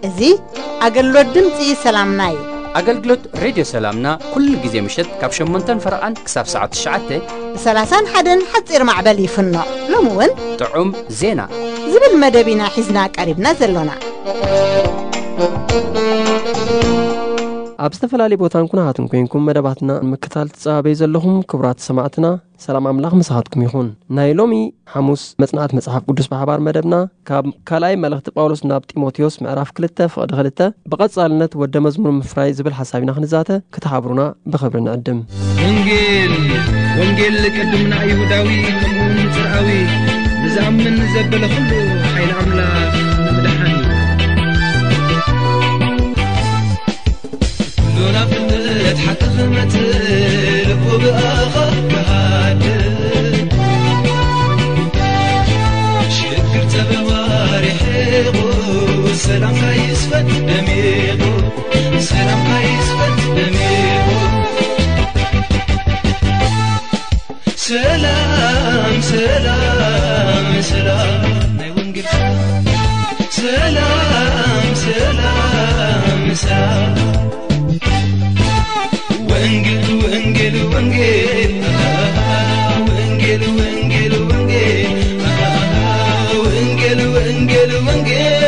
እዚ ኣገልግሎት ድምፂ ሰላምና እዩ። ኣገልግሎት ሬድዮ ሰላምና ኩሉ ግዜ ምሸት ካብ ሸሞንተን ፈረቓን ክሳብ ሰዓት ትሽዓተ ብ30ን ሓደን ሓፂር ማዕበል ይፍኖ። ሎሚ እውን ጥዑም ዜና ዝብል መደብ ኢና ሒዝና ቀሪብና ዘሎና። ኣብ ዝተፈላለዩ ቦታን ኩነታትን ኮይንኩም መደባትና ንምክታል ትጸባበዩ ዘለኹም ክቡራት ሰማዕትና፣ ሰላም ኣምላኽ ምሳኻትኩም ይኹን። ናይ ሎሚ ሓሙስ መጽናዕቲ መጽሓፍ ቅዱስ ብሓባር መደብና ካብ ካልኣይ መልእኽቲ ጳውሎስ ናብ ጢሞቴዎስ ምዕራፍ ክልተ ፍቕዲ ክልተ ብቐጻልነት ወደ መዝሙር ምፍራይ ዝብል ሓሳብ ኢና ክንዛተ፣ ክትሓብሩና ብኽብሪ ንዕድም። ወንጌል፣ ወንጌል ቅድም ንኣይሁዳዊ ከምኡውን ንጽርኣዊ ንዝኣምን ንዘበለ ኩሉ ሓይሊ ኣምላኽ ንምድሓን እዩ። ኩሉ ናብ እምነት ሓቂ ክመጽእ ልቡ ብኣኻ ክሃድእ ሽግር ጸበባ ርሒቑ ሰላምካ ይስፈን ደሚቑ ሰላምካ ይስፈን ደሚቑ ሰላም ሰላም ሰላም ናይ ወንጌል ሰላም ሰላም ሰላም ሰላም ወንጌል ወንጌል ወንጌል ወንጌል ወንጌል ወንጌል ወንጌል ወንጌል ወንጌል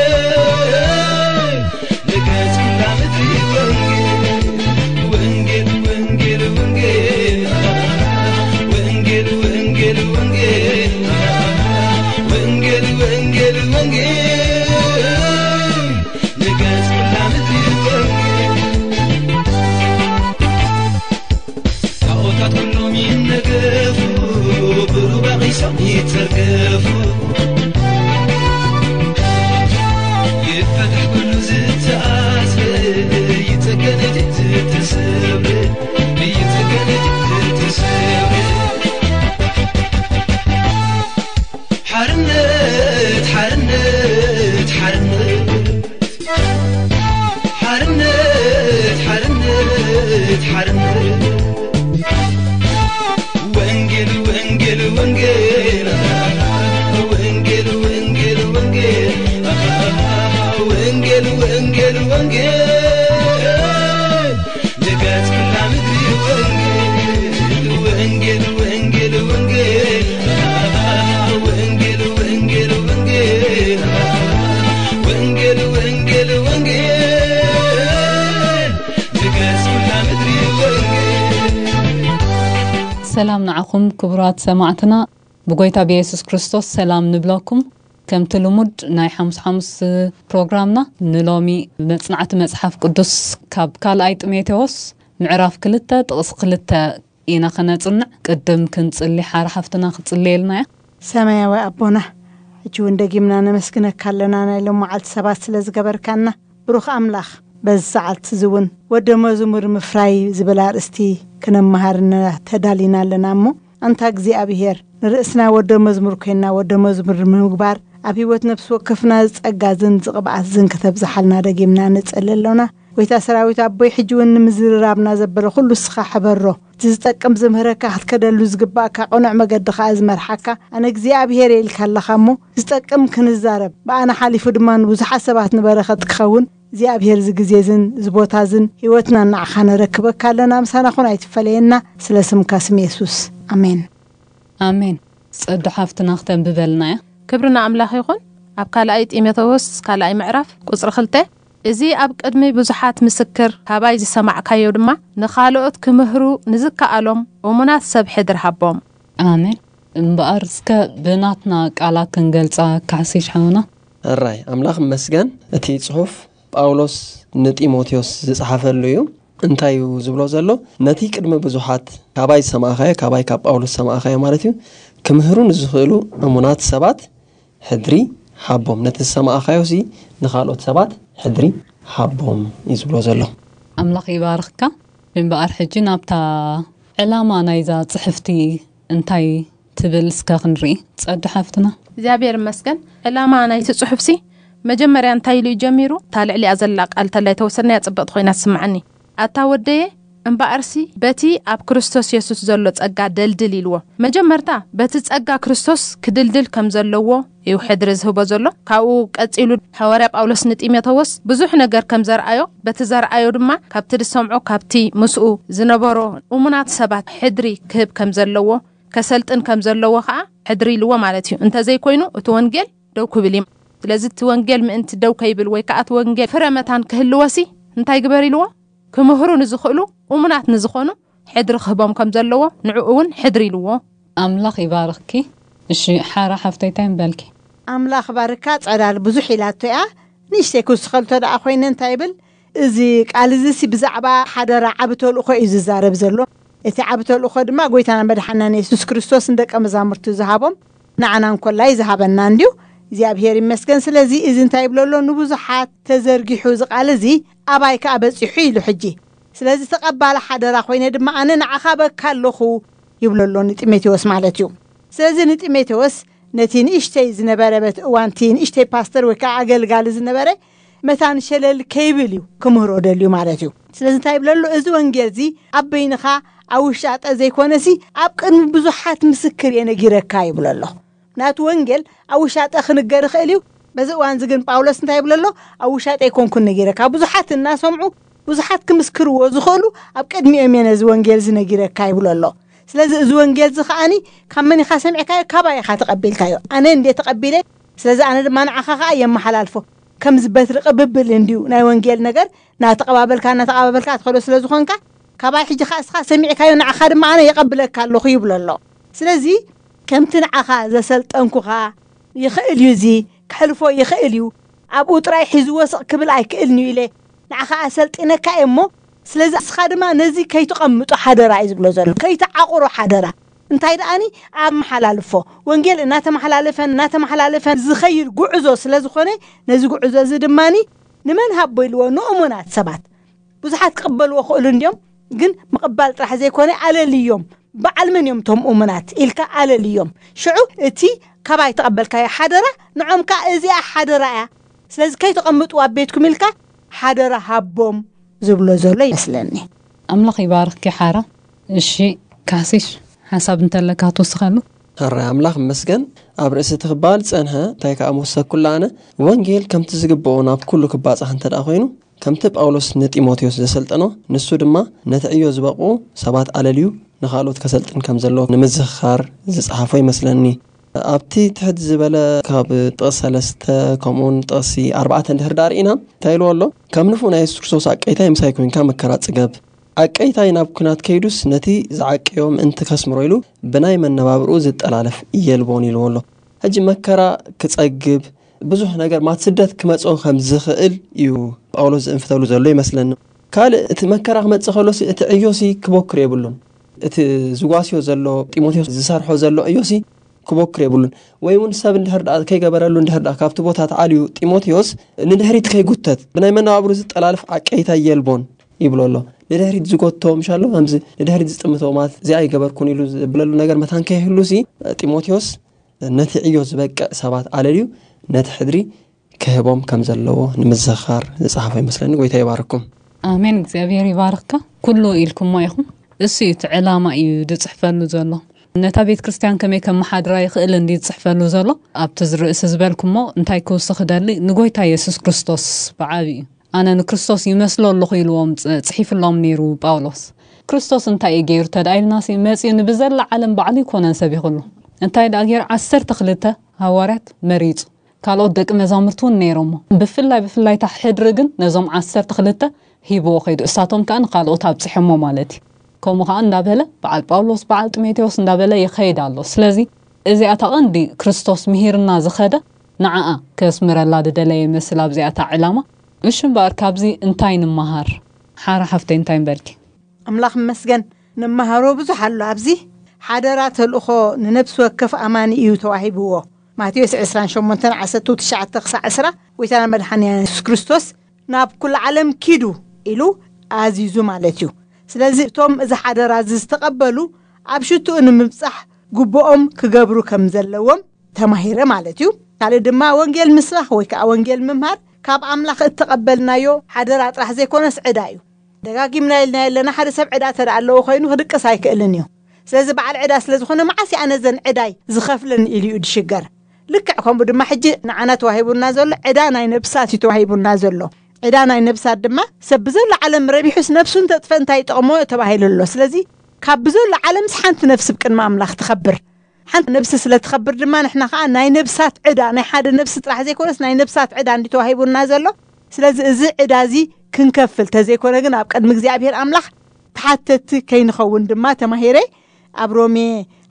ንገጽ ኩላ ምድሪ ወንጌል ወንጌል ወንጌል ወንጌል ወንጌል ወንጌል ወንጌል ወንጌል ወንጌል ወንጌል ንገጽ ኩላ ምድሪ ወንጌል ታቦታት ኩሎም ይነገፉ ብሩባቕ ይሶም ይተርገፉ ይፈታሕ ኩሉ ዝተኣስረ ይጸገን እቲ ዝተሰብረ ይጸገን እቲ ዝተሰብረ ሓርነት ሓርነት ሓርነት ሓርነት ሓርነት ሓርነት ወንጌል ወንጌል ወንጌል ወንጌል ወንጌል ወንጌል ወንጌል ወንጌል ወንጌል ንገጽ ኩላ ምድሪ ወንጌል ወንጌል ወንጌል ወንጌል ወንጌል ወንጌል ወንጌል ወንጌል ወንጌል ወንጌል ንገጽ ኩላ ምድሪ ወንጌል ሰላም ንዓኹም ክቡራት ሰማዕትና፣ ብጎይታ ብየሱስ ክርስቶስ ሰላም ንብለኩም። ከምቲ ልሙድ ናይ ሓሙስ ሓሙስ ፕሮግራምና ንሎሚ መጽናዕቲ መጽሓፍ ቅዱስ ካብ ካልኣይ ጢሞቴዎስ ምዕራፍ ክልተ ጥቕሲ ክልተ ኢና ከነጽንዕ። ቅድም ክንጽሊ ሓር ሓፍትና ክጽልየልና እያ። ሰማያዊ ኣቦና፣ ሕጂ እውን ደጊምና ነመስግነካ ኣለና ናይ ሎም መዓልቲ ሰባት ስለ ዝገበርካና። ብሩኽ ኣምላኽ፣ በዚ ሰዓልቲ እዚ እውን ወደ መዝሙር ምፍራይ ዝብል ኣርእስቲ ክነመሃር ተዳሊና ኣለና እሞ፣ ኣንታ እግዚኣብሄር፣ ንርእስና ወደ መዝሙር ኮይንና ወደ መዝሙር ንምግባር ኣብ ህይወት ነፍሲ ወከፍና ዝጸጋ ዝን ዝቕብኣት ዝን ከተብዝሓልና ደጊምና ንጽሊ ኣሎና። ጎይታ ሰራዊት ኣቦይ፣ ሕጂ እውን ንምዝርራብና ዘበለ ኩሉ እስኻ ሕበሮ። እቲ ዝጠቅም ዝምህረካ ክትከደሉ ዝግባእካ ቅኑዕ መገዲ ከኣ ዝመርሓካ ኣነ እግዚኣብሄር እየ ኢልካ ኣለኻ እሞ፣ ዝጠቅም ክንዛረብ፣ ብኣነ ሓሊፉ ድማ ንብዙሓት ሰባት ንበረኸት ክኸውን እግዚኣብሄር እዚ ግዜ ዝን እዚ ቦታ ዝን ህይወትና ንዓኻ ነረክበካ ኣለና። ምሳና ኹን ኣይትፈለየና። ስለ ስምካ ስም የሱስ። ኣሜን። ኣሜን። ጸዱ ሓፍትና ክተንብበልና እያ። ክብሪ ንኣምላኽ ይኹን። ኣብ ካልኣይ ጢሞቴዎስ ካልኣይ ምዕራፍ ቁጽሪ ክልተ፣ እዚ ኣብ ቅድሚ ብዙሓት ምስክር ካባይ ዝሰማዕካዮ ድማ ንኻልኦት ክምህሩ ንዝከኣሎም እሙናት ሰብ ሕድሪ ሃቦም። ኣሜን። እምበኣር እስከ ብናትና ቃላት ክንገልጻ ካሕሲሽ ሓውና። ሕራይ ኣምላኽ ይመስገን። እቲ ጽሑፍ ጳውሎስ ንጢሞቴዎስ ዝጸሓፈሉ እዩ። እንታይ እዩ ዝብሎ ዘሎ? ነቲ ቅድሚ ብዙሓት ካባይ ዝሰማዕኻዮ፣ ካባይ ካብ ጳውሎስ ዝሰማዕኻዮ ማለት እዩ፣ ክምህሩ ንዝኽእሉ እሙናት ሰባት ሕድሪ ሃቦም። ነቲ ዝሰማዕኻዮ ሲ ንኻልኦት ሰባት ሕድሪ ሃቦም እዩ ዝብሎ ዘሎ። ኣምላኽ ይባርኽካ። እምበኣር ሕጂ ናብታ ዕላማ ናይዛ ጽሕፍቲ እንታይ ትብል እስከ ክንርኢ። ጸዱ ሓፍትና። እግዚኣብሔር ይመስገን። ዕላማ ናይቲ ጽሑፍሲ መጀመርያ እንታይ ኢሉ እዩ ጀሚሩ? እታ ልዕሊኣ ዘላ ቃል ተላይ ተወሰድናያ ጽብቕቲ ኮይና ትስምዓኒ። ኣታ ወደየ፣ እምበኣርሲ በቲ ኣብ ክርስቶስ የሱስ ዘሎ ጸጋ ደልድል ኢልዎ። መጀመርታ በቲ ጸጋ ክርስቶስ ክድልድል ከም ዘለዎ እዩ ሕድሪ ዝህቦ ዘሎ። ካብኡ ቀጺሉ ሃዋርያ ጳውሎስ ንጢሞቴዎስ ብዙሕ ነገር ከም ዘርኣዮ፣ በቲ ዘርኣዮ ድማ ካብቲ ዝሰምዖ ካብቲ ምስኡ ዝነበሮ እሙናት ሰባት ሕድሪ ክህብ ከም ዘለዎ፣ ከሰልጥን ከም ዘለዎ ከዓ ሕድሪ ኢልዎ ማለት እዩ። እንተዘይኮይኑ እቲ ወንጌል ደው ክብል እዩ። ስለዚ እቲ ወንጌል ምእንቲ ደው ከይብል ወይ ከዓ እቲ ወንጌል ፍረ መታን ክህልወሲ እንታይ ግበር ኢልዎ? ክምህሩ ንዝኽእሉ እሙናት ንዝኾኑ ሕድሪ ክህቦም ከም ዘለዎ ንዕኡ እውን ሕድሪ ኢልዎ። ኣምላኽ ይባርኽኪ። እሺ ሓራ ሓፍተይ እንታይ ምበልኪ? ኣምላኽ ባርካ። ጸዳል ብዙሕ ኢላቶ እያ። ንእሽተይ ክውስኸልቶ ደኣ ኮይነ እንታይ ይብል? እዚ ቃል እዚ ሲ ብዛዕባ ሓደራ ዓቢ ተልእኾ እዩ ዝዛረብ ዘሎ። እቲ ዓቢ ተልእኾ ድማ ጎይታና መድሓናን የሱስ ክርስቶስ ንደቀ መዛሙርቱ ዝሃቦም ንዓና እንኮላይ ዝሃበና እንድዩ እግዚኣብሔር ይመስገን። ስለዚ እዚ እንታይ ይብሎ ኣሎ? ንብዙሓት ተዘርጊሑ እዚ ቃል እዚ ኣባይ ከኣ በጺሑ ኢሉ ሕጂ። ስለዚ ተቐባሊ ሓደራ ኮይነ ድማ ኣነ ንዓኻ በካ ኣለኹ ይብሎ ኣሎ ንጢሞቴዎስ ማለት እዩ። ስለዚ ንጢሞቴዎስ ነቲ ንእሽተይ ዝነበረ በት እዋንቲ ንእሽተይ ፓስተር ወይ ከዓ ኣገልጋሊ ዝነበረ መታን ሸለል ከይብል እዩ ክምህሮ ደልዩ ማለት እዩ። ስለዚ እንታይ ይብለሉ? እዚ ወንጌል እዚ ኣብ በይንኻ ኣብ ውሻጠ ዘይኮነሲ ኣብ ቅድሚ ብዙሓት ምስክር እየ ነጊረካ ይብሎ ኣሎ። ናቱ ወንጌል ኣብ ውሻጠ ክንገር ይኽእል እዩ። በዚ እዋን እዚ ግን ጳውሎስ እንታይ ይብሎ ኣሎ? ኣብ ውሻጠ ኣይኮንኩን ነጊረካ። ብዙሓት እናሰምዑ ብዙሓት ክምስክርዎ ዝኽእሉ ኣብ ቅድሚኦም እየ ነዚ ወንጌል እዚ ነጊረካ ይብሎ ኣሎ። ስለዚ እዚ ወንጌል እዚ ከዓኒ ካብ መን ኢኻ ሰሚዕካዮ? ካባይ ኢኻ ተቐቢልካዮ። ኣነ እንዴ ተቐቢለ፣ ስለዚ ኣነ ድማ ንዓኻ ከኣ የመሓላልፎ። ከምዚ በትሪ ቅብብል እንድዩ ናይ ወንጌል ነገር፣ እናተቐባበልካ እናተቐባበልካ ትኸዶ ስለ ዝኾንካ፣ ካባይ ሕጂ ከኣ እስኻ ሰሚዕካዮ ንዓኻ ድማ ኣነ የቐብለካ ኣለኹ ይብሎ ኣሎ። ስለዚ ከምቲ ንዓኻ ዘሰልጠንኩኻ ይኽእል እዩ፣ እዚ ክሕልፎ ይኽእል እዩ፣ ኣብኡ ጥራይ ሒዝዎ ስቕ ክብል ኣይክእልን እዩ ኢለ ንዓኻ ኣሰልጢነካ እየ እሞ፣ ስለዚ እስኻ ድማ ነዚ ከይትቐምጦ ሓደራ እዩ ዝብሎ ዘሎ፣ ከይትዓቑሮ ሓደራ። እንታይ ደኣኒ ኣመሓላልፎ ወንጌል እናተመሓላለፈን እናተመሓላለፈን ዝኸይድ ጉዕዞ ስለ ዝኾነ፣ ነዚ ጉዕዞ እዚ ድማኒ ንመን ሃቦ ኢልዎ? ንእሙናት ሰባት። ብዙሓት ክቕበልዎ ክእሉ እንድዮም፣ ግን ምቕባል ጥራሕ ዘይኮነ ኣለልዮም። በዓል መን እዮም እቶም እሙናት ኢልካ ኣለልዮም። ሽዑ እቲ ካባይ ተቐበልካዮ ሓደራ ንዖም ከኣ እዚኣ ሓደራ እያ፣ ስለዚ ከይተቐምጥዋ ኣብ ቤትኩም ኢልካ ሓደራ ሃቦም ዝብሎ ዘሎ ይመስለኒ። ኣምላኽ ይባርኽኪ ሓራ። እሺ ካሲሽ ሓሳብ እንተለካ ትውስኸሉ። ሕራይ ኣምላኽ ይመስገን። ኣብ ርእሲ እቲ ክበሃል ዝጸንሐ እንታይ ከኣ ምወሰኩላ ኣነ፣ ወንጌል ከምቲ ዝግብኦ ናብ ኩሉ ክባጻሕ እንተ ደኣ ኮይኑ፣ ከምቲ ጳውሎስ ንጢሞቴዎስ ዘሰልጠኖ፣ ንሱ ድማ ነቲ ዕዮ ዝበቕኡ ሰባት ኣለልዩ ንኻልኦት ከሰልጥን ከም ዘለዎ ንምዝኽኻር ዝጸሓፎ ይመስለኒ። ኣብቲ ትሕት ዝበለ ካብ ጥቕሲ ሰለስተ ከምኡውን ጥቕሲ ኣርባዕተ እንድሕር ደኣ ርኢና እንታይ ኢልዎ ኣሎ? ከም ንፉዕ ናይ የሱስ ክርስቶስ ኣቀይታይ ምሳይ ኮይንካ መከራ ጽገብ። ኣቀይታይ ናብ ኲናት ከይዱስ ነቲ ዝዓቀዮ ምእንቲ ከስምሮ ኢሉ ብናይ መነባብርኡ ዝጠላለፍ የልቦን ኢልዎ ኣሎ። ሕጂ መከራ ክጸግብ ብዙሕ ነገር ማት ስደት ክመጽኦ ከም ዝኽእል እዩ ጳውሎስ ዝእንፍተሉ ዘሎ ይመስለኒ። ካልእ እቲ መከራ ክመጽእ ከሎሲ እቲ ዕዮሲ ክቦክር የብሉን። እቲ ዝጓስዮ ዘሎ ጢሞቴዎስ ዝሰርሖ ዘሎ ዕዮሲ ክቦክር የብሉን። ወይ እውን ሰብ እንድሕር ደኣ ከይገበረሉ እንድሕር ደኣ ካብቲ ቦታ ተዓልዩ ጢሞቴዎስ ንድሕሪት ከይጉተት ብናይ መነባብሩ ዝጠላልፍ ዓቀይታ የልቦን ይብሎ ኣሎ። ንድሕሪት ዝጎቶ ምሻሎ ከምዚ ንድሕሪት ዝጥምቶ ማለት እዚኣ ኣይገበርኩን ኢሉ ዝብለሉ ነገር መታን ከይህሉሲ ጢሞቴዎስ ነቲ ዕዮ ዝበቅዕ ሰባት ኣለልዩ ነቲ ሕድሪ ክህቦም ከም ዘለዎ ንምዝኽኻር ዝጸሓፎ ይመስለኒ። ጎይታ ይባርኩም። ኣሜን። እግዚኣብሔር ይባርክካ። ኩሉ ኢልኩሞ ኢኹም። እሱ እዩ እቲ ዕላማ እዩ ዝጽሕፈሉ ዘሎ። ነታ ቤተ ክርስቲያን ከመይ ከመሓድራ ይኽእል እንዲ ዝጽሕፈሉ ዘሎ። ኣብቲ ዝርእሲ ዝበልኩሞ እንታይ ክውስኽ ደሊ ንጎይታ የሱስ ክርስቶስ ብዓብዩ ኣነ ንክርስቶስ ይመስሎ ኣለኹ ኢልዎም ጽ- ጽሒፍሎም ነይሩ ጳውሎስ። ክርስቶስ እንታይ እዩ ገይሩ ተደኣ ኢልናሲ መጺኡ ንብዘላ ዓለም ባዕሉ ይኮነን ሰብ ይኽሉ። እንታይ ደኣ ገይሩ ዓሰርተ ክልተ ሃዋርያት መሪጹ። ካልኦት ደቂ መዛሙርቲ እውን ነይሮሞ። ብፍላይ ብፍላይ እታ ሕድሪ ግን ነዞም ዓሰርተ ክልተ ሂብዎ ከይዱ። እሳቶም ከኣ ንኻልኦት ኣብጺሖሞ ማለት እዩ። ከምኡ ከኣ እንዳበለ በዓል ጳውሎስ በዓል ጢሞቴዎስ እንዳበለ ይኸይድ ኣሎ። ስለዚ እዚኣታ ቐንዲ ክርስቶስ ምሂርና ዝኸደ ንዓኣ ከስምረላ ዝደለየ ይመስል ኣብዚኣታ ዕላማ። እሺ እምበኣር ካብዚ እንታይ ንመሃር? ሓራ ሓፍተይ እንታይ ምበልኪ? ኣምላኽ ይመስገን። ንመሃሮ ብዙሕ ኣሎ ኣብዚ። ሓደራ ተልእኾ ንነብሲ ወከፍ ኣማኒ እዩ ተዋሂብዎ። ማቴዎስ ዕስራን ሸሞንተን ዓሰርተ ትሽዓተ ክሳዕ ዕስራ ጎይታና መድሓኒና የሱስ ክርስቶስ ናብ ኩሉ ዓለም ኪዱ ኢሉ ኣዚዙ ማለት እዩ። ስለዚ እቶም እዚ ሓደራ እዚ ዝተቐበሉ ኣብ ሽትኡ ንምብጻሕ ግቡኦም ክገብሩ ከም ዘለዎም ተማሂረ ማለት እዩ። ካልእ ድማ ወንጌል ምስባኽ ወይ ከዓ ወንጌል ምምሃር ካብ ኣምላኽ እተቐበልናዮ ሓደራ ጥራሕ ዘይኮነስ ዕዳ እዩ። ደጋጊምና ኢልና የለና፣ ሓደ ሰብ ዕዳ ተደኣ ኣለዎ ኮይኑ ክድቅስ ኣይክእልን እዩ። ስለዚ በዓል ዕዳ ስለ ዝኾነ መዓስ እየ ኣነ ዘን ዕዳይ ዝኸፍልን ኢሉ እዩ ድሽገር። ልክዕ ከምኡ ድማ ሕጂ ንዓና ተዋሂቡና ዘሎ ዕዳ ናይ ነብሳት እዩ ተዋሂቡና ዘሎ። ዕዳ ናይ ነብሳት ድማ ሰብ ብዘሎ ዓለም ረቢሑስ ነብሱ እንተጥፈ እንታይ ይጠቕሞ ተባሂሉ ኣሎ። ስለዚ ካብ ብዘሎ ዓለምስ ሓንቲ ነፍሲ ብቅድሚ ኣምላኽ ትኸብር። ሓንቲ ነብሲ ስለ ትኸብር ድማ ንሕና ከዓ ናይ ነብሳት ዕዳ፣ ናይ ሓደ ነብሲ ጥራሕ ዘይኮነስ ናይ ነብሳት ዕዳ እንዲ ተዋሂቡና ዘሎ። ስለዚ እዚ ዕዳ እዚ ክንከፍል ተዘይኮነ ግን ኣብ ቅድሚ እግዚኣብሔር ኣምላኽ ተሓተቲ ከይንኸውን ድማ ተማሂረ። ኣብ ሮሜ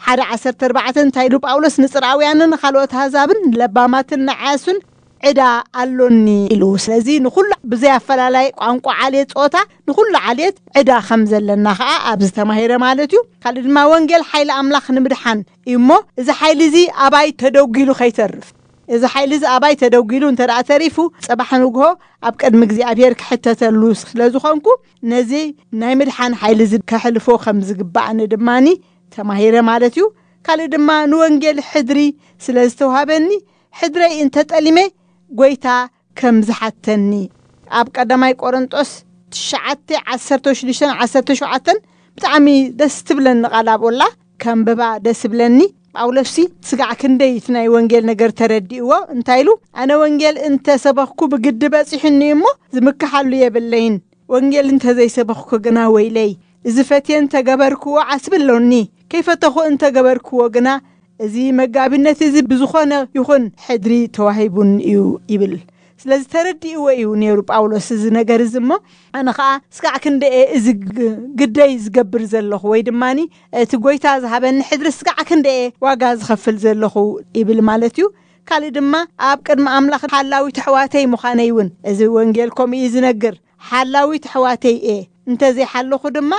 ሓደ ዓሰርተ ኣርባዕተ እንታይ ኢሉ ጳውሎስ? ንጽርኣውያንን ንኻልኦት ኣህዛብን ንለባማትን ንዓያሱን ዕዳ ኣሎኒ ኢሉ። ስለዚ ንኹሉ ብዘይ ኣፈላላይ ቋንቋ፣ ዓሌት፣ ጾታ፣ ንኹሉ ዓሌት ዕዳ ከም ዘለና ኸኣ ኣብዚ ተማሂረ ማለት እዩ። ካልእ ድማ ወንጌል ሓይሊ ኣምላኽ ንምድሓን እዩ እሞ፣ እዚ ሓይሊ እዚ ኣባይ ተደጒሉ ከይተርፍ፣ እዚ ሓይሊ እዚ ኣባይ ተደጒሉ እንተ ደኣ ተሪፉ፣ ጽባሕ ንግሆ ኣብ ቅድሚ እግዚኣብሔር ክሕተተሉ ስለ ዝኾንኩ፣ ነዚ ናይ ምድሓን ሓይሊ እዚ ከሕልፎ ከም ዝግባእኒ ድማኒ ተማሂረ ማለት እዩ። ካልእ ድማ ንወንጌል ሕድሪ ስለ ዝተዋህበኒ፣ ሕድረይ እንተጠሊመ ጐይታ ከም ዝሓተኒ። ኣብ ቀዳማይ ቆሮንጦስ ትሽዓተ ዓሰርተ ሽዱሽተን ዓሰርተ ሸውዓተን ብጣዕሚ ደስ ትብለኒ ቃል ኣብኡ ኣላ፣ ከንብባ ደስ ይብለኒ። ጳውሎስሲ ስጋዕ ክንደይ እቲ ናይ ወንጌል ነገር ተረዲእዎ፣ እንታይ ኢሉ? ኣነ ወንጌል እንተ ሰበኽኩ ብግዲ በጺሑኒ እሞ ዝምክሓሉ የብለይን። ወንጌል እንተ ዘይሰበኽኩ ግና ወይለይ፣ እዚ ፈትየ እንተ ገበርክዎ ዓስቢ ኣሎኒ፣ ከይፈተኹ እንተ ገበርክዎ ግና እዚ መጋቢነት እዚ ብዝኾነ ይኹን ሕድሪ ተዋሂቡኒ እዩ ይብል። ስለዚ ተረዲእዎ እዩ ነይሩ ጳውሎስ እዚ ነገር እዚ እሞ፣ ኣነ ኸኣ ስጋዕ ክንደየ እዚ ግ-፣ ግደይ ዝገብር ዘለኹ ወይ ድማኒ እቲ ጐይታ ዝሃበኒ ሕድሪ ስጋዕ ክንደየ ዋጋ ዝኸፍል ዘለኹ ይብል ማለት እዩ። ካልእ ድማ ኣብ ቅድሚ ኣምላኽ ሓላዊት ኣሕዋተይ ምዃነይ እውን እዚ ወንጌል ከምኡ እዩ ዝነግር። ሓላዊት ኣሕዋተይ እየ፣ እንተ ዘይሓለኹ ድማ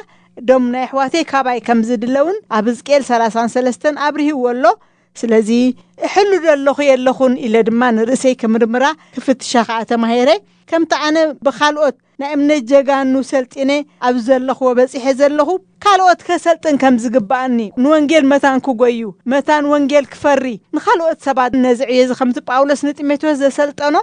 ደም ናይ ኣሕዋተይ ካባይ ከም ዝድለውን ኣብ ሕዝቅኤል ሰላሳን ሰለስተን ኣብርሂዎ ኣሎ። ስለዚ እሕሉ ዶ ኣለኹ የለኹን ኢለ ድማ ንርእሰይ ክምርምራ ክፍትሻ ኸኣ ተማሂረ። ከምቲ ኣነ ብኻልኦት ናይ እምነት ጀጋኑ ሰልጢነ ኣብ ዘለኽዎ በጺሐ ዘለኹ፣ ካልኦት ከሰልጥን ከም ዝግብኣኒ፣ ንወንጌል መታን ክጎዩ፣ መታን ወንጌል ክፈሪ፣ ንኻልኦት ሰባት ነዚ ዕዮ እዚ ከምቲ ጳውሎስ ንጢሞቴዎስ ዘሰልጠኖ፣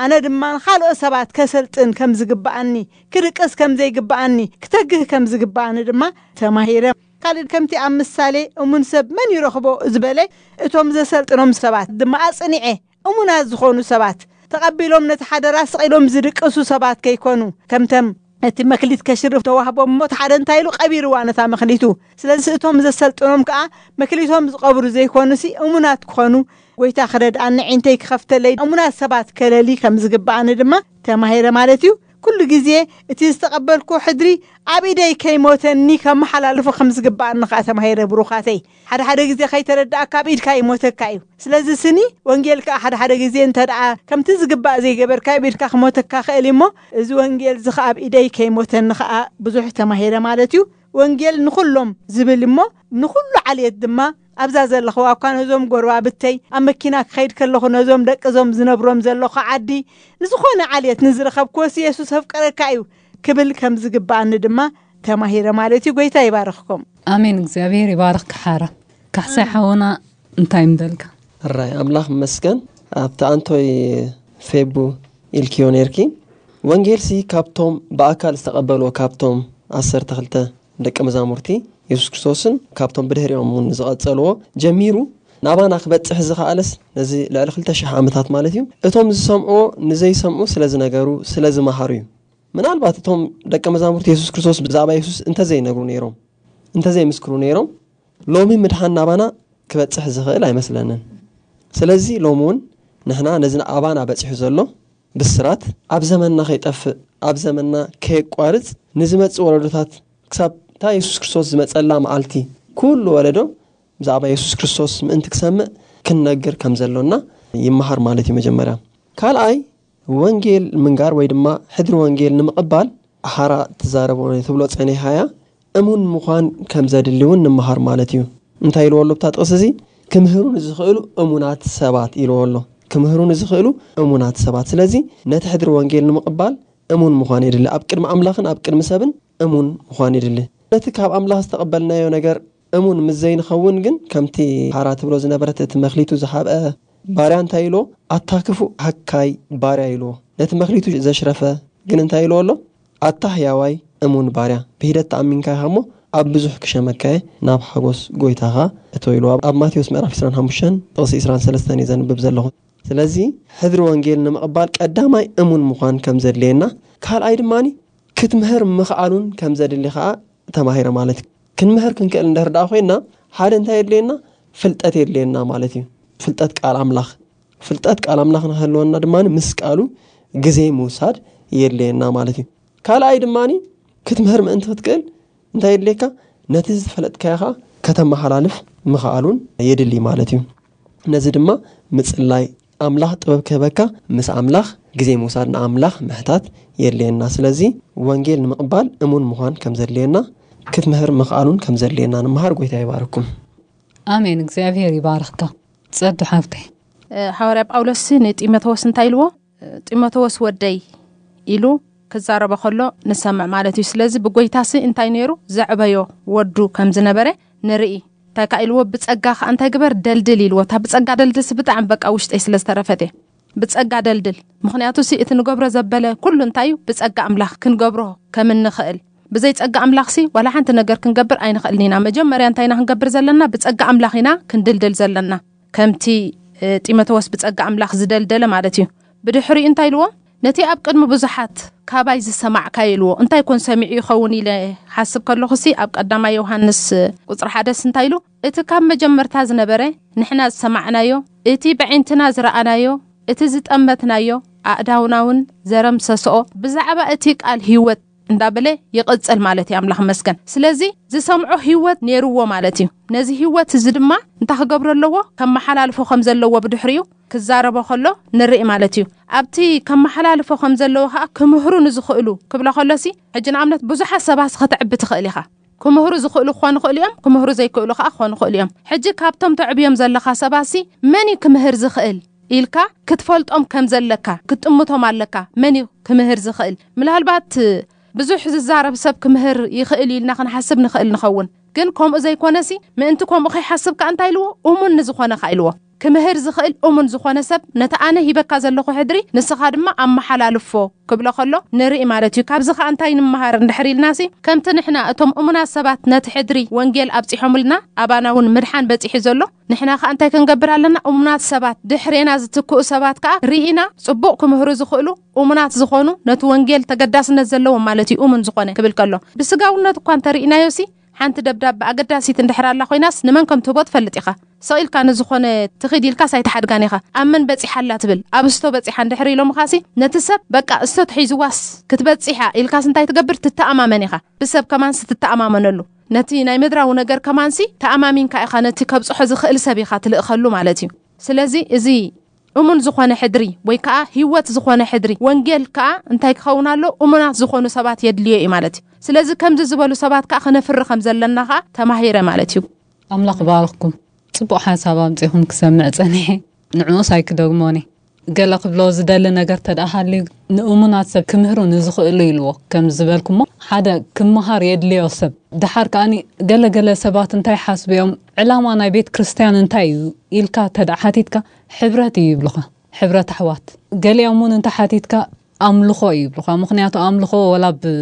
ኣነ ድማ ንኻልኦት ሰባት ከሰልጥን ከም ዝግብኣኒ፣ ክድቅስ ከም ዘይግብኣኒ፣ ክተግህ ከም ዝግብኣኒ ድማ ተማሂረ። ካልእ ከምቲ ኣብ ምሳሌ እሙን ሰብ መን ይረኽቦ ዝበለ፣ እቶም ዘሰልጥኖም ሰባት ድማ ኣጽኒዐ፣ እሙናት ዝኾኑ ሰባት ተቐቢሎም ነቲ ሓደራ ስቕ ኢሎም ዝድቅሱ ሰባት ከይኮኑ፣ ከምተም እቲ መክሊት ከሽርፍ ተዋህቦም እሞ፣ እቲ ሓደ እንታይ ኢሉ ቀቢርዋ ነታ መክሊቱ። ስለዚ እቶም ዘሰልጥኖም ከኣ መክሊቶም ዝቐብሩ ዘይኮኑሲ እሙናት ክኾኑ፣ ጐይታ ክረድኣኒ፣ ዒንተይ ክኸፍተለይ፣ እሙናት ሰባት ከለሊ ከም ዝግብኣኒ ድማ ተማሂረ ማለት እዩ። ኩሉ ግዜ እቲ ዝተቐበልኩ ሕድሪ ኣብ ኢደይ ከይሞተኒ ከመሓላልፎ ከም ዝግብኣኒ ከኣ ተማሂረ ብሩኻተይ። ሓደ ሓደ ግዜ ከይተረዳእካ ኣብ ኢድካ ይሞተካ እዩ። ስለዚ ስኒ ወንጌል ከኣ ሓደ ሓደ ግዜ እንተ ደኣ ከምቲ ዝግባእ ዘይገበርካ ኣብ ኢድካ ክሞተካ ክእል እሞ፣ እዚ ወንጌል እዚ ከኣ ኣብ ኢደይ ከይሞተኒ ከኣ ብዙሕ ተማሂረ ማለት እዩ። ወንጌል ንኹሎም ዝብል እሞ፣ ንኹሉ ዓልየት ድማ ኣብዛ ዘለኽዋ እኳ ነዞም ጎረባብተይ፣ ኣብ መኪና ክኸይድ ከለኹ ነዞም ደቂ እዞም ዝነብሮም ዘለኹ ዓዲ፣ ንዝኾነ ዓልየት ንዝረኸብክዎስ የሱስ ኣፍቀረካ እዩ ክብል ከም ዝግብኣኒ ድማ ተማሂረ ማለት እዩ። ጎይታ ይባርኽኩም። ኣሜን። እግዚኣብሔር ይባርኽ ክሓራ። ካሕሳይ ሓውና እንታይ ምደልካ? ሕራይ ኣምላኽ መስገን። ኣብቲ ኣንቶይ ፌቡ ኢልክዮ ነርኪ፣ ወንጌልሲ ካብቶም ብኣካል ዝተቐበልዎ ካብቶም ዓሰርተ ክልተ ደቂ መዛሙርቲ የሱስ ክርስቶስን ካብቶም ብድሕሪኦም እውን ዝቐጸልዎ ጀሚሩ ናባና ክበጽሕ ዝኸኣለስ ነዚ ልዕሊ ክልተ ሽሕ ዓመታት ማለት እዩ። እቶም ዝሰምዕዎ ንዘይሰምዑ ስለ ዝነገሩ፣ ስለ ዝመሃሩ እዩ። ምናልባት እቶም ደቂ መዛሙርቲ የሱስ ክርስቶስ ብዛዕባ የሱስ እንተዘይነግሩ ነይሮም፣ እንተዘይምስክሩ ነይሮም፣ ሎሚ ምድሓን ናባና ክበጽሕ ዝኽእል ኣይመስለንን። ስለዚ ሎሚ እውን ንሕና ነዚ ኣባና በጺሑ ዘሎ ብስራት ኣብ ዘመንና ከይጠፍእ፣ ኣብ ዘመንና ከየቋርጽ፣ ንዝመጽእ ወለዶታት ክሳብ እታ የሱስ ክርስቶስ ዝመጸላ መዓልቲ ኩሉ ወለዶ ብዛዕባ የሱስ ክርስቶስ ምእንቲ ክሰምዕ ክንነግር ከም ዘሎና ይመሃር ማለት እዩ መጀመርያ። ካልኣይ፣ ወንጌል ምንጋር ወይ ድማ ሕድሪ ወንጌል ንምቕባል ሓራ ትዛረቦ ትብሎ ጸኒሓያ እሙን ምዃን ከም ዘድሊ እውን ንምሃር ማለት እዩ። እንታይ ኢልዎ ኣሎ ኣብታ ጥቕሲ እዚ? ክምህሩ ንዝኽእሉ እሙናት ሰባት ኢልዎ ኣሎ። ክምህሩ ንዝኽእሉ እሙናት ሰባት። ስለዚ ነቲ ሕድሪ ወንጌል ንምቕባል እሙን ምዃን የድሊ። ኣብ ቅድሚ ኣምላኽን ኣብ ቅድሚ ሰብን እሙን ምዃን የድሊ። ነቲ ካብ ኣምላኽ ዝተቐበልናዮ ነገር እሙን ምስ ዘይንኸውን ግን፣ ከምቲ ሃራ ትብሎ ዝነበረት፣ እቲ መክሊቱ ዝሃብአ ባርያ እንታይ ኢልዎ? ኣታ ክፉእ ሃካይ ባርያ ኢልዎ። ነቲ መክሊቱ ዘሽረፈ ግን እንታይ ኢልዎ ኣሎ? ኣታ ህያዋይ እሙን ባርያ፣ ብሂደት ተኣሚንካ ኢኻ እሞ፣ ኣብ ብዙሕ ክሸመካየ ናብ ሓጎስ ጎይታኻ እቶ ኢልዎ። ኣብ ማቴዎስ ምዕራፍ ዕስራን ሓሙሽተን ጥቕሲ ዕስራን ሰለስተን እየ ዘንብብ ዘለኹ። ስለዚ ሕድሪ ወንጌል ንምቕባል ቀዳማይ እሙን ምዃን ከም ዘድልየና፣ ካልኣይ ድማ ክትምህር ምኽኣሉን ከም ዘድሊ ኸዓ ተማሂረ ማለት እዩ። ክንምህር ክንክእል እንድሕር ደኣ ኮይና፣ ሓደ እንታይ የድልየና? ፍልጠት የድልየና ማለት እዩ። ፍልጠት ቃል ኣምላኽ። ፍልጠት ቃል ኣምላኽ ንክህልወና ድማ ምስ ቃሉ ግዜ ምውሳድ የድልየና ማለት እዩ። ካልኣይ ድማ ክትምህር ምእንቲ ክትክእል እንታይ የድልየካ? ነቲ ዝፈለጥካዮ ኸዓ ከተመሓላልፍ ምኽኣሉን የድሊ ማለት እዩ። ነዚ ድማ ምጽላይ፣ ኣምላኽ ጥበብ ክህበካ፣ ምስ ኣምላኽ ግዜ ምውሳድ፣ ንኣምላኽ ምሕታት የድልየና። ስለዚ ወንጌል ንምቕባል እሙን ምዃን ከም ዘድልየና፣ ክትምህር ምኽኣሉን ከም ዘድልየና ንምሃር። ጎይታ ይባርኩም። ኣሜን። እግዚኣብሔር ይባርኽካ ጸዱ ሓፍተይ። እ፣ ሃዋርያ ጳውሎስ ንጢሞቴዎስ እንታይ ኢልዎ? እ፣ ጢሞቴዎስ ወደይ ኢሉ ክዛረቦ ከሎ ንሰምዕ ማለት እዩ። ስለዚ ብጎይታሲ እንታይ ነይሩ? ዘዕበዮ ወዱ ከም ዝነበረ ንርኢ። እንታይ ከኣ ኢልዎ? ብጸጋ ከኣ እንታይ ግበር? ደልድል ኢልዎ። እታ ብጸጋ ደልድልሲ ብጣዕሚ በቃ ውሽጠይ ስለ ዝተረፈት እየ። ብጸጋ ደልድል። ምኽንያቱ ሲ እቲ ንገብሮ ዘበለ ኩሉ እንታይ እዩ? ብጸጋ ኣምላኽ ክንገብሮ ከም እንኽእል። ብዘይ ጸጋ ኣምላኽሲ ዋላ ሓንቲ ነገር ክንገብር ኣይንኽእልን ኢና። መጀመርያ እንታይ ኢና ክንገብር ዘለና? ብጸጋ ኣምላኽ ኢና ክንድልድል ዘለና። ከምቲ እ፣ ጢሞቴዎስ ብጸጋ ኣምላኽ ዝደልደለ ማለት እዩ። ብድሕሪኡ እንታይ ኢልዎ? ነቲ ኣብ ቅድሚ ብዙሓት ካባይ ዝሰማዕካዮ ኢልዎ። እንታይ ኮን ሰሚዑ ይኸውን ኢለ ሓስብ ከለኹሲ ኣብ ቀዳማይ ዮሃንስ እ፣ ቁጽሪ ሓደስ እንታይ ኢሉ? እቲ ካብ መጀመርታ ዝነበረ ንሕና ዝሰማዕናዮ፣ እቲ ብዒንትና ዝረኣናዮ፣ እቲ ዝጠመትናዮ፣ ኣእዳውና እውን ዘረምሰስኦ ብዛዕባ እቲ ቃል ህይወት እንዳበለ ይቕጽል ማለት እዩ። ኣምላኽ መስገን። ስለዚ ዝሰምዖ ህይወት ነይርዎ ማለት እዩ። ነዚ ህይወት እዚ ድማ እንታይ ክገብሮ ኣለዎ? ከመሓላልፎ ከም ዘለዎ ብድሕሪኡ ክዛረቦ ከሎ ንርኢ ማለት እዩ። ኣብቲ ከመሓላልፎ ከም ዘለዎ ከዓ ክምህሩ ንዝኽእሉ ክብሎ ከሎሲ፣ ሕጂ ንኣብነት ብዙሓት ሰባት ከተዕቢ ትኽእል ኢኻ። ክምህሩ ዝኽእሉ ክኾኑ ይኽእሉ እዮም፣ ክምህሩ ዘይክእሉ ከዓ ክኾኑ ይኽእሉ እዮም። ሕጂ ካብቶም ተዕብዮም ዘለኻ ሰባትሲ መን እዩ ክምህር ዝኽእል ኢልካ ክትፈልጦም ከም ዘለካ ክትጥምቶም ኣለካ። መን እዩ ክምህር ዝኽእል? ምናልባት ብዙሕ ዝዛረብ ሰብ ክምህር ይኽእል ኢልና ክንሓስብ ንኽእል ንኸውን። ግን ከምኡ ዘይኮነሲ፣ ምእንቲ ከምኡ ከይሓስብ ከኣ እንታይ ኢልዎ? እሙን ንዝኾነ ከኣ ኢልዎ። ክምህር ዝኽእል እሙን ዝኾነ ሰብ፣ ነቲ ኣነ ሂበካ ዘለኹ ሕድሪ ንስኻ ድማ ኣመሓላልፎ ክብሎ ከሎ ንርኢ ማለት እዩ። ካብዚ ከኣ እንታይ ንምሃር እንድሕር ኢልናሲ፣ ከምቲ ንሕና እቶም እሙናት ሰባት ነቲ ሕድሪ ወንጌል ኣብጺሖምልና፣ ኣባና እውን ምድሓን በጺሑ ዘሎ፣ ንሕና ከኣ እንታይ ክንገብር ኣለና? እሙናት ሰባት ድሕሬና ዝትክኡ ሰባት ከኣ ርኢና ጽቡቕ ክምህሩ ዝኽእሉ እሙናት ዝኾኑ፣ ነቲ ወንጌል ተገዳስነት ዘለዎም ማለት እዩ። እሙን ዝኾነ ክብል ከሎ፣ ብስጋውነት እኳ እንተርኢናዮሲ፣ ሓንቲ ደብዳብ ኣገዳሲት እንድሕር ኣላ ኮይናስ ንመን ከም ትህቦ ትፈልጥ ኢኻ። ሰቕ ኢልካ ንዝኾነ ትኺድ ኢልካስ ኣይትሓድጋን ኢኻ። ኣብ መን በጺሓ ኣላ ትብል፣ ኣብ እስቶ በጺሓ እንድሕር ኢሎምኻሲ፣ ነቲ ሰብ በቃ እስቶ ተሒዝዋስ ክትበጽሕ እያ ኢልካስ እንታይ ትገብር? ትተኣማመን ኢኻ። ብሰብ ከማንሲ ትተኣማመነሉ። ነቲ ናይ ምድራዊ ነገር ከማንሲ ተኣማሚንካ ኢኻ ነቲ ከብጽሖ ዝኽእል ሰብ ኢኻ ትልእኸሉ ማለት እዩ። ስለዚ እዚ እሙን ዝኾነ ሕድሪ ወይ ከኣ ህይወት ዝኾነ ሕድሪ ወንጌል ከኣ እንታይ ክኸውን ኣሎ? እሙናት ዝኾኑ ሰባት የድልዮ እዩ ማለት እዩ። ስለዚ ከምዚ ዝበሉ ሰባት ከኣ ክነፍሪ ከም ዘለና ከኣ ተማሂረ ማለት እዩ። ኣምላኽ ባርኽኩም። ጽቡቕ ሓሳብ ኣምጺኹም ክሰምዕ ጸኒሐ። ንዕኡስ ኣይክደግሞን እየ። ገለ ክብሎ ዝደሊ ነገር ተደኣ ሃልዩ፣ ንእሙናት ሰብ ክምህሩ ንዝኽእሉ ኢልዎ። ከም ዝበልኩሞ፣ ሓደ ክመሃር የድልዮ ሰብ። ደሓር ከኣኒ ገለ ገለ ሰባት እንታይ ሓስቡ እዮም፣ ዕላማ ናይ ቤት ክርስትያን እንታይ እዩ ኢልካ ተደኣ ሓቲትካ፣ ሕብረት እዩ ይብሉኻ። ሕብረት ኣሕዋት። ገሊኦም እውን እንተ ሓቲትካ ኣምልኾ እዩ ይብሉኻ። ምኽንያቱ ኣምልኾ ወላ ብ-፣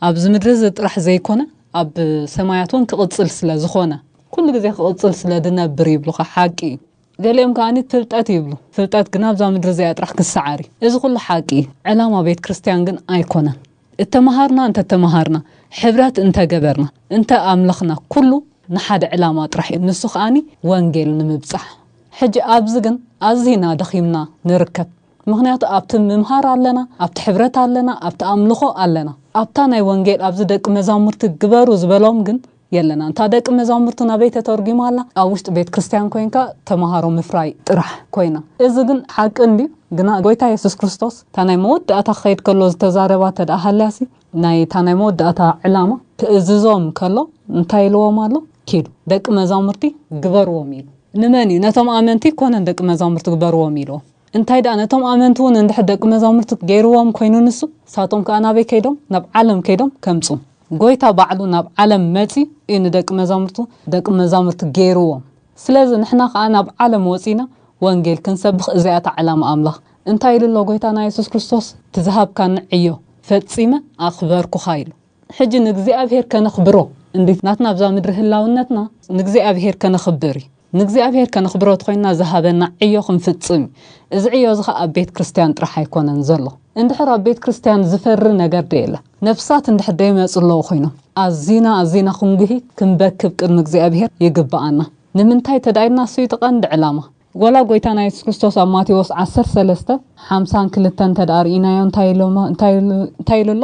ኣብዚ ምድሪ እዚ ጥራሕ ዘይኮነ ኣብ ሰማያት እውን ክቕጽል ስለ ዝኾነ፣ ኩሉ ግዜ ክቕጽል ስለ ድነብር ይብሉኻ። ሓቂ እዩ። ገሊኦም ከኣ ፍልጠት ይብሉ። ፍልጠት ግን ኣብዛ ምድሪ እዚኣ ጥራሕ ክሰዓር እዩ። እዚ ኩሉ ሓቂ እዩ። ዕላማ ቤት ክርስትያን ግን ኣይኮነን። እተመሃርና እንተተመሃርና፣ ሕብረት እንተገበርና፣ እንተ ኣምለኽና፣ ኩሉ ንሓደ ዕላማ ጥራሕ እዩ። ንሱ ከኣኒ ወንጌል ንምብጻሕ። ሕጂ ኣብዚ ግን ኣዚና ደኺምና ንርከብ። ምኽንያቱ ኣብቲ ምምሃር ኣለና፣ ኣብቲ ሕብረት ኣለና፣ ኣብቲ ኣምልኾ ኣለና። ኣብታ ናይ ወንጌል ኣብዚ ደቂ መዛሙርቲ ግበሩ ዝበሎም ግን የለና። እንታ ደቂ መዛሙርቲ ናበይ ተተርጒማ ኣላ? ኣብ ውሽጢ ቤት ክርስትያን ኮይንካ ተምሃሮ ምፍራይ ጥራሕ ኮይና። እዚ ግን ሓቂ እንድዩ፣ ግና ጎይታ የሱስ ክርስቶስ እታ ናይ መወዳእታ ክኸይድ ከሎ ዝተዛረባ ተደኣ ሃልያሲ፣ ናይ እታ ናይ መወዳእታ ዕላማ ክእዝዞም ከሎ እንታይ ኢልዎም ኣሎ? ኪዱ ደቂ መዛሙርቲ ግበርዎም ኢሉ። ንመን እዩ? ነቶም ኣመንቲ ኮነ ደቂ መዛሙርቲ ግበርዎም ኢልዎም። እንታይ ደኣ ነቶም ኣመንቲ እውን እንድሕር ደቂ መዛሙርቲ ገይርዎም ኮይኑ ንሱ፣ ንሳቶም ከኣ ናበይ ከይዶም? ናብ ዓለም ከይዶም ከምጹ። ጎይታ ባዕሉ ናብ ዓለም መጺ እዩ ንደቂ መዛሙርቱ ደቂ መዛሙርቲ ገይርዎም። ስለዚ ንሕና ከኣ ናብ ዓለም ወጺና ወንጌል ክንሰብኽ እዚኣታ ዕላማ ኣምላኽ። እንታይ ኢሉ ኣሎ ጎይታና የሱስ ክርስቶስ? "እቲ ዝሃብካኒ ዕዮ ፈጺመ ኣኽበርኩኻ" ኢሉ። ሕጂ ንእግዚኣብሔር ከነኽብሮ እንዲ ናትና ኣብዛ ምድሪ ህላውነትና ንእግዚኣብሔር ከነኽብር እዩ። ንእግዚኣብሔር ከነኽብሮ ተኾይንና ዝሃበና ዕዮ ክንፍጽም እዩ። እዚ ዕዮ እዚ ኸኣ ኣብ ቤት ክርስቲያን ጥራሕ ኣይኮነን ዘሎ። እንድሕር ኣብ ቤት ክርስቲያን ዝፈሪ ነገር ዶ የለ? ነፍሳት እንድሕር ደይመጹ ኣለዉ ኮይኖም ኣዚና ኣዚና ክንጉሂ ክንበክብ ቅድሚ እግዚኣብሔር ይግብኣና። ንምንታይ ተዳይልና እሱ እዩ እቲ ቀንዲ ዕላማ። ወላ ጎይታና የሱስ ክርስቶስ ኣብ ማቴዎስ ዓሰርተ ሰለስተ ሓምሳን ክልተን እንተ ደኣ ርኢናዮ እንታይ ኢሎሞ እንታይ ኢሉ እንታይ ኢሉ ኣሎ?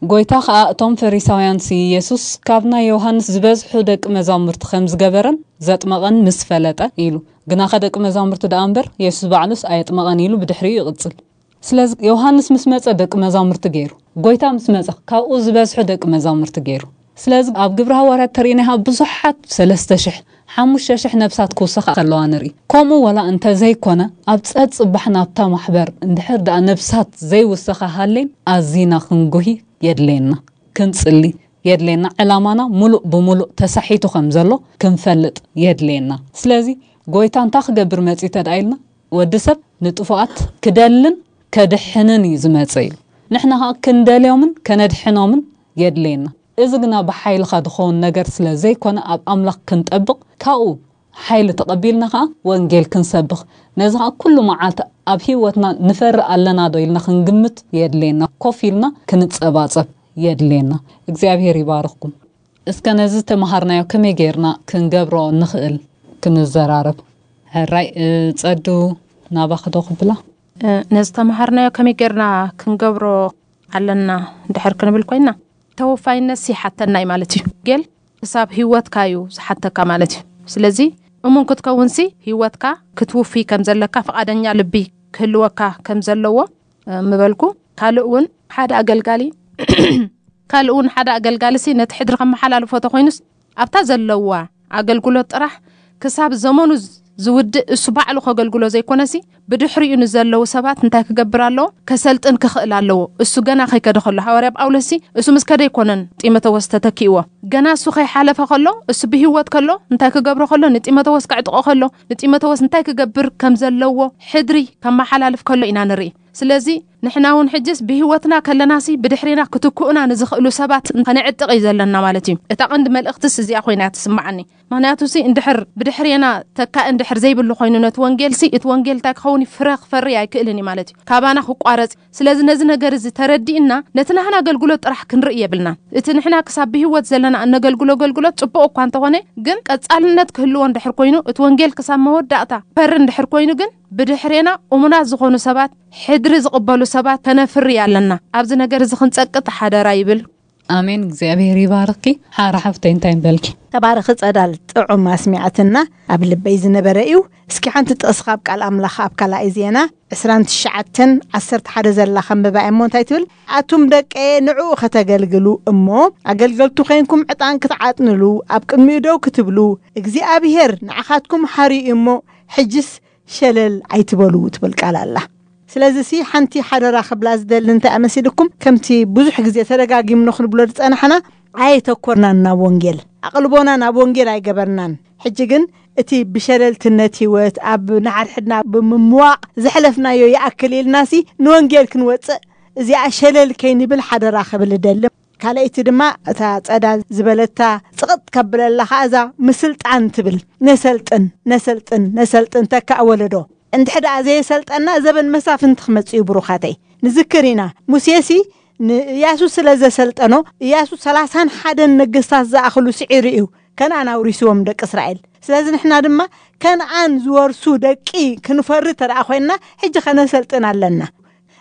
ጎይታ ኸኣ እቶም ፈሪሳውያንሲ የሱስ ካብ ናይ ዮሃንስ ዝበዝሑ ደቂ መዛሙርቲ ከም ዝገበረን ዘጥመቐን ምስ ፈለጠ ኢሉ። ግናኸ ደቂ መዛሙርቲ ደኣ እምበር የሱስ ባዕሉስ ኣየጥመቐን ኢሉ ብድሕሪኡ ይቕጽል። ስለዚ ዮሃንስ ምስ መጸ ደቂ መዛሙርቲ ገይሩ። ጎይታ ምስ መጸ ካብኡ ዝበዝሑ ደቂ መዛሙርቲ ገይሩ። ስለዚ ኣብ ግብሪ ሃዋርያት ተርእይናዮ ብዙሓት ሰለስተ ሽሕ ሓሙሽተ ሽሕ ነብሳት ክውሰኻ ከለዋ ንርኢ። ከምኡ ወላ እንተ ዘይኮነ ኣብ ጸጽባሕ ናብታ ማሕበር እንድሕር ደኣ ነብሳት ዘይውሰኻ ሃሌን ኣዚና ክንጉሂ የድልየና። ክንጽሊ የድልየና። ዕላማና ሙሉእ ብሙሉእ ተሳሒቱ ከም ዘሎ ክንፈልጥ የድልየና። ስለዚ ጎይታ እንታይ ክገብር መጺ ተድኣ ኢልና ወዲ ሰብ ንጥፉኣት ክደልን ከድሕንን እዩ ዝመጸ ኢሉ። ንሕና ኸኣ ክንደልዮምን ከነድሕኖምን የድልየና። እዚ ግና ብሓይልኻ ዝኸውን ነገር ስለ ዘይኮነ ኣብ ኣምላኽ ክንጠብቕ ካብኡ ሓይሊ ተቐቢልና ኸኣ ወንጌል ክንሰብኽ ነዚ ኸኣ ኩሉ መዓልቲ ኣብ ህይወትና ንፈሪ ኣለና ዶ ኢልና ክንግምት የድልየና። ኮፍ ኢልና ክንጸባጸብ የድልየና። እግዚኣብሔር ይባርኽኩም። እስከ ነዚ ተመሃርናዮ ከመይ ጌርና ክንገብሮ ንኽእል ክንዘራረብ። ሕራይ ጸዱ ናባኺ ዶ ክብላ? ነዚ ተመሃርናዮ ከመይ ጌርና ክንገብሮ ኣለና ድሕር ክንብል ኮይና ተወፋይነት ይሓተና እዩ ማለት እዩ። ጌል ክሳብ ህይወትካ እዩ ዝሓተካ ማለት እዩ። ስለዚ እሙን ክትከውንሲ ህይወትካ ክትውፊ ከም ዘለካ ፍቓደኛ ልቢ ክህልወካ ከም ዘለዎ ምበልኩ። ካልእ እውን ሓደ ኣገልጋሊ ካልእ እውን ሓደ ኣገልጋሊ ሲ ነቲ ሕድሪ ከመሓላልፎ ተኮይኑስ ኣብታ ዘለዋ ኣገልግሎት ጥራሕ ክሳብ ዘመኑ ዝውድእ እሱ ባዕሉ ከገልግሎ ዘይኮነሲ ብድሕሪኡ ንዘለዉ ሰባት እንታይ ክገብር ኣለዎ? ከሰልጥን ክኽእል ኣለዎ። እሱ ገና ከይከደ ከሎ ሃዋርያ ጳውሎስ ሲ እሱ ምስ ከደ ኣይኮነን ጢሞተዎስ ተተኪእዎ። ገና እሱ ከይሓለፈ ከሎ እሱ ብህይወት ከሎ እንታይ ክገብሮ ከሎ ንጢሞተዎስ ከዕጥቆ ከሎ ንጢሞተዎስ እንታይ ክገብር ከም ዘለዎ ሕድሪ ከመሓላልፍ ከሎ ኢና ንርኢ። ስለዚ ንሕና እውን ሕጅስ ብህይወትና ከለናሲ ብድሕሬና ክትክኡና ንዝኽእሉ ሰባት ከነዕጥቕ እዩ ዘለና ማለት እዩ። እታ ቀንዲ መልእኽትስ እዚኣ ኮይና ትስምዓኒ። ምኽንያቱ ሲ እንድሕር ብድሕሬና ተካኢ እንድሕር ዘይብሉ ኮይኑ ነቲ ወንጌል ሲ እቲ ወንጌል እንታይ ክኸውን እዩ? ፍረ ክፈሪ ኣይክእልን እዩ ማለት እዩ። ካባና ክቋረጽ። ስለዚ ነዚ ነገር እዚ ተረዲእና ነቲ ናህና ኣገልግሎት ጥራሕ ክንርኢ የብልናን። እቲ ንሕና ክሳብ ብህይወት ዘለና እነገልግሎ ኣገልግሎት ጽቡቕ እኳ እንተኾነ ግን ቀጻልነት ክህልዎ እንድሕር ኮይኑ እቲ ወንጌል ክሳብ መወዳእታ ፈሪ እንድሕር ኮይኑ ግን ብድሕሬና እሙናት ዝኾኑ ሰባት ሕድሪ ዝቕበሉ ሰባት ከነፍሪ ኣለና። ኣብዚ ነገር እዚ ክንጸቅጥ ሓደራ ይብል። ኣሜን። እግዚኣብሔር ይባርኪ። ሓራ ሓፍተይ እንታይ ንበልኪ? ተባረኺ ጸዳል፣ ጥዑም ኣስሚዓትና፣ ኣብ ልበይ ዝነበረ እዩ። እስኪ ሓንቲ ጥቕሲ ካብ ቃል ኣምላኽ ኣብ ካልኣይ ዜና ዕስራን ትሽዓተን ዓሰርተ ሓደ ዘላ ከንብባ እሞ እንታይ ትብል? ኣቱም ደቀየ ንዕኡ ከተገልግሉ እሞ ኣገልገልቱ ኬንኩም ዕጣን ክትዓጥንሉ ኣብ ቅድሚኡ ደው ክትብሉ እግዚኣብሔር ንዓኻትኩም ሓርዩ እሞ ሕጅስ ሸለል ኣይትበሉ ትብል ቃል ኣላ። ስለዚ ሲ ሓንቲ ሓደራ ክብላ ዝደሊ እንታይ ኣመሲልኩም ከምቲ ብዙሕ ግዜ ተደጋጊምኖ ክንብሎ ዝጸናሕና ኣየተኮርናን ናብ ወንጌል ኣቕልቦና ናብ ወንጌል ኣይገበርናን። ሕጂ ግን እቲ ብሸለልትነት ህይወት ኣብ ንሓድሕድና ብምምዋቕ ዘሕለፍናዮ ይኣክል ኢልናሲ ንወንጌል ክንወፅእ እዚኣ ሸለል ከይንብል ሓደራ ክብል እደሊ። ካልኣይቲ ድማ እታ ፀዳ ዝበለታ ፅቕጥ ከብለላ ከዓ እዛ ምስልጣን ትብል ነሰልጥን ነሰልጥን ነሰልጥን ተካእ ወለዶ እንድሕር ደኣ ዘየሰልጠና ዘበን መሳፍንቲ ክመፅእ እዩ ብሩኻተይ። ንዝክር ኢና ሙሴሲ ንእያሱ ስለ ዘሰልጠኖ እያሱ ሰላሳን ሓደን ነገስታት ዝኣኽሉ ስዒሩ እዩ ከነኣን ኣውሪስዎም ደቂ እስራኤል። ስለዚ ንሕና ድማ ከነኣን ዝወርሱ ደቂ ክንፈሪ ተደኣ ኮይንና ሕጂ ከነሰልጥን ኣለና።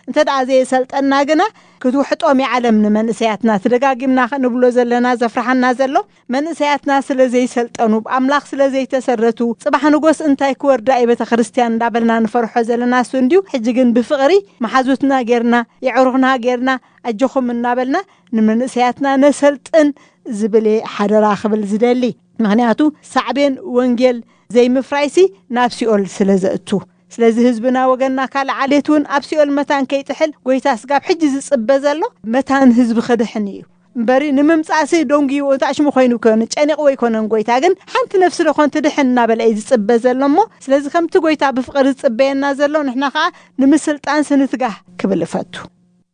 እንተ ደኣ ዘየሰልጠና ግና ክትውሕጦም እያ ዓለም ንመንእሰያትና። ተደጋጊምና ንብሎ ዘለና ዘፍርሓና ዘሎ መንእሰያትና ስለ ዘይሰልጠኑ ብኣምላኽ ስለ ዘይተሰረቱ ጽባሕ ንጎስ እንታይ ክወርዳ እዩ ቤተ ክርስቲያን እንዳበልና ንፈርሖ ዘለና እሱ እንድዩ። ሕጂ ግን ብፍቕሪ መሓዙትና ጌርና የዕሩኽና ጌርና ኣጆኹም እናበልና ንመንእሰያትና ነሰልጥን ዝብል እየ ሓደራ ክብል ዝደሊ። ምኽንያቱ ሳዕቤን ወንጌል ዘይምፍራይሲ ናብ ሲኦል ስለ ዘእቱ። ስለዚ ህዝብና ወገንና ካልእ ዓሌት እውን ኣብ ሲኦል መታን ከይጥሕል ጎይታ ስጋብ ሕጂ ዝጽበ ዘሎ መታን ህዝቢ ክድሕን እዩ። እምበሪ ንምምጻእሲ ደንጉዩ እንታይ ሽሙ ኮይኑ ይኮን፣ ጨኒቕዎ ኣይኮነን። ጎይታ ግን ሓንቲ ነፍሲ ዶ ኮን ትድሕን እናበለ እዩ ዝጽበ ዘሎ እሞ፣ ስለዚ ከምቲ ጎይታ ብፍቕሪ ዝጽበየና ዘሎ ንሕና ኸኣ ንምስልጣን ስንትጋህ ክብል እፈቱ።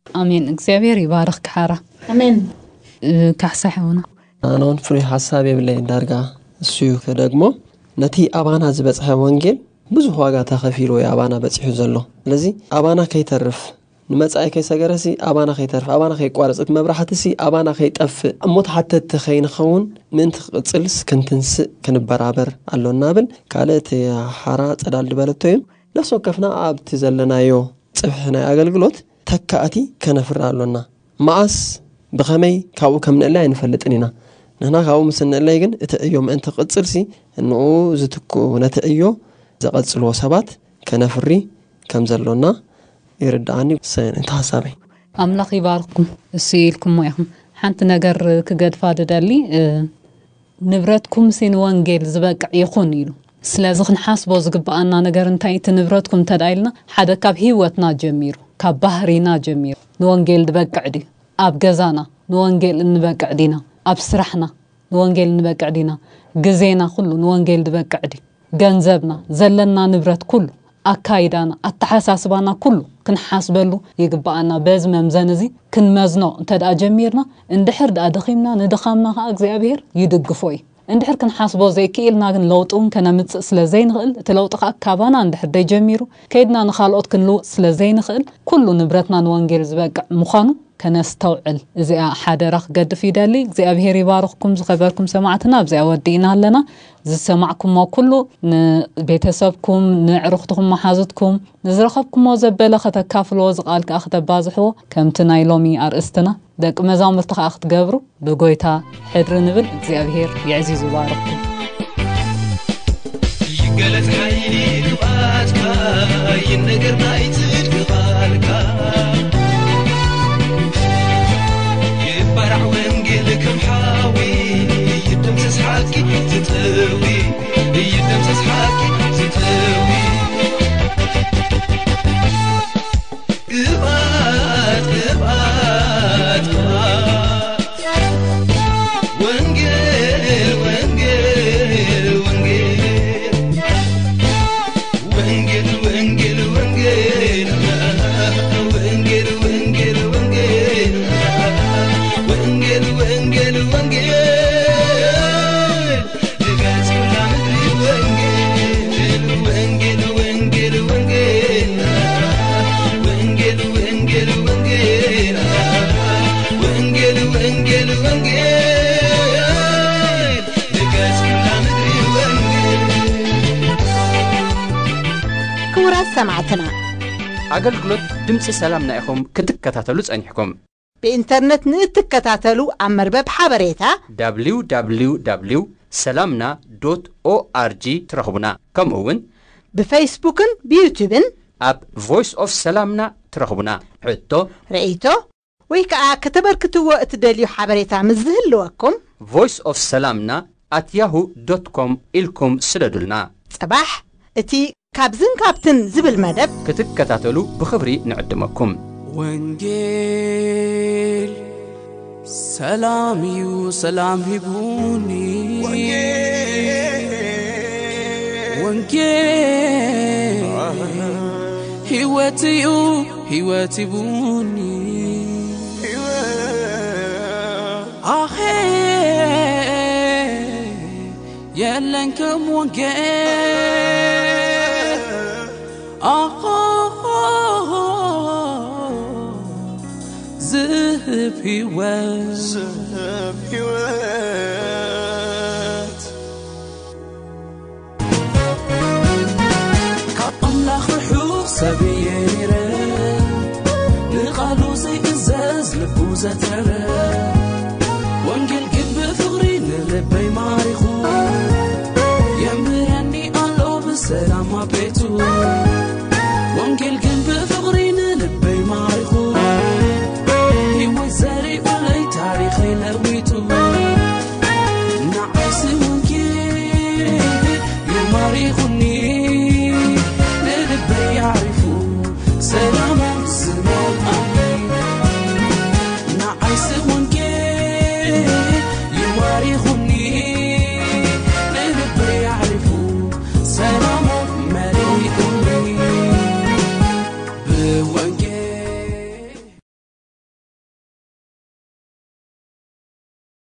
ኣሜን። እግዚኣብሔር ይባርኽ ክሓራ። ኣሜን። እ፣ ካሕሳ ሓውና። ኣነ እውን ፍሉይ ሓሳብ የብለይን። ዳርጋ እሱ እዩ ከደግሞ። ነቲ ኣባና ዝበጽሐ ወንጌል ብዙሕ ዋጋ ተኸፊሉ እዩ ኣባና በጺሑ ዘሎ። ስለዚ ኣባና ከይተርፍ፣ ንመጻኢ ከይሰገረሲ ኣባና ከይተርፍ፣ ኣባና ከይቋረጽ፣ እቲ መብራህትሲ ኣባና ከይጠፍእ፣ እሞ ተሓተትቲ ከይንኸውን ምእንቲ ክቕጽልስ ክንትንስእ ክንበራበር ኣሎና ብል። ካልእ እቲ ሓራ ጸዳል ዝበለቶ እዩ። ነፍሲ ወከፍና ኣብቲ ዘለናዮ ጽፍሒ ናይ ኣገልግሎት ተካእቲ ከነፍሪ ኣሎና። መኣስ ብኸመይ ካብኡ ከም ንእለይ ኣይንፈልጥን ኢና። ንሕና ካብኡ ምስ እንእለይ ግን እቲ ዕዮ ምእንቲ ክቕጽልሲ እንኡ ዝትክኡ ነቲ ዕዮ ዘቐጽልዎ ሰባት ከነፍሪ ከም ዘሎና ይርድኣኒ። ሰ-፣ እቲ ሓሳበይ። ኣምላኽ ይባርኽኩም። እሱ ኢልኩሞ ኢኹም። ሓንቲ ነገር ክገድፋ ድደሊ፣ እ፣ ንብረትኩምሲ ንወንጌል ዝበቅዕ ይኹን ኢሉ። ስለዚ ክንሓስቦ ዝግብኣና ነገር እንታይ፣ እቲ ንብረትኩም እንተ ደኣ ኢልና፣ ሓደ ካብ ህይወትና ጀሚሩ፣ ካብ ባህሪና ጀሚሩ ንወንጌል ዝበቅዕ ድዩ? ኣብ ገዛና ንወንጌል እንበቅዕ ዲና? ኣብ ስራሕና ንወንጌል እንበቅዕ ዲና? ግዜና ኩሉ ንወንጌል ዝበቅዕ ድዩ? ገንዘብና፣ ዘለና ንብረት ኩሉ፣ ኣካይዳና፣ ኣተሓሳስባና ኩሉ ክንሓስበሉ ይግብኣና። በዚ መምዘኒ እዚ ክንመዝኖ እንተ ደኣ ጀሚርና፣ እንድሕር ደኣ ደኺምና፣ ንድኻምና ከኣ እግዚኣብሔር ይድግፎ እዩ። እንድሕር ክንሓስቦ ዘይክኢልና ግን ለውጢ እውን ከነምጽእ ስለ ዘይንኽእል፣ እቲ ለውጢ ከኣ ካባና እንድሕር ደይጀሚሩ፣ ከይድና ንኻልኦት ክንልውጥ ስለ ዘይንኽእል፣ ኩሉ ንብረትና ንወንጌል ዝበቅዕ ምዃኑ ከነስተውዕል፣ እዚኣ ሓደራ ክገድፍ ይደሊ። እግዚኣብሔር ይባርኽኩም ዝኸበርኩም ሰማዕትና። ኣብዚኣ ወዲእና ኣለና። ዝሰማዕኩሞ ኩሉ ንቤተሰብኩም፣ ንዕሩኽትኩም፣ መሓዙትኩም፣ ንዝረኸብኩሞ ዘበለ ከተካፍልዎ፣ እዚ ቃል ከኣ ከተባዝሕዎ፣ ከምቲ ናይ ሎሚ ኣርእስትና ደቂ መዛሙርቲ ከኣ ክትገብሩ ብጎይታ ሕድሪ ንብል። እግዚኣብሔር የዕዚዙ ይባርኽኩም። ይገለጽ ሓይሊ ቅብኣትካ፣ ይነገር ናይ ጽድቂ ቃልካ። ይባራዕ ወንጌል ከም ሓዊ፣ ይደምሰስ ሓቂ ዝጥዊ፣ ይደምሰስ ሓቂ ዝጥዊ። ቅብኣት፣ ቅብኣት፣ ቅብኣት። ወንጌል፣ ወንጌል፣ ወንጌል። ወንጌል፣ ወንጌል፣ ወንጌል። ወንጌል፣ ወንጌል፣ ወንጌል። ወንጌል፣ ወንጌል፣ ወንጌል። ንገጽ ኩላ ምድሪ ወንጌል፣ ወንጌል፣ ወንጌል፣ ወንጌል። ወንጌል፣ ወንጌል፣ ወንጌል። ወንጌል፣ ወንጌል፣ ወንጌል። ንገጽ ኩላ ምድሪ ወንጌል። ክቡራት ሰማዕትና፣ ኣገልግሎት ድምፂ ሰላምና ኢኹም ክትከታተሉ ጸኒሕኩም። ብኢንተርነት ንእትከታተሉ ኣብ መርበብ ሓበሬታ ደብሊው ደብሊው ደብሊው ሰላምና ዶት ኦኣርጂ ትረኽቡና። ከምኡ እውን ብፌስቡክን ብዩቱብን ኣብ ቮይስ ኦፍ ሰላምና ትረኽቡና። ሕቶ፣ ርእይቶ ወይ ከዓ ከተበርክትዎ እትደልዩ ሓበሬታ ምስ ዝህልወኩም ቮይስ ኦፍ ሰላምና ኣት ያሁ ዶት ኮም ኢልኩም ስደዱልና። ጽባሕ እቲ ካብዝን ካብትን ዝብል መደብ ክትከታተሉ ብኽብሪ ንዕድመኩም። ወንጌል ሰላም እዩ፣ ሰላም ሂቡኒ። ወንጌል፣ ወንጌል ህይወት እዩ፣ ህይወት ሂቡኒ። ኣኼ የለን ከም ወንጌል። ኣኾ ዝህብ ህይወት፣ ዝህብ ህይወት። ካብ ኣምላኽ ርሑቕ ሰብ እየ ነይረ፣ ንቓሉ ዘይእዘዝ ልቡ ዘተረ።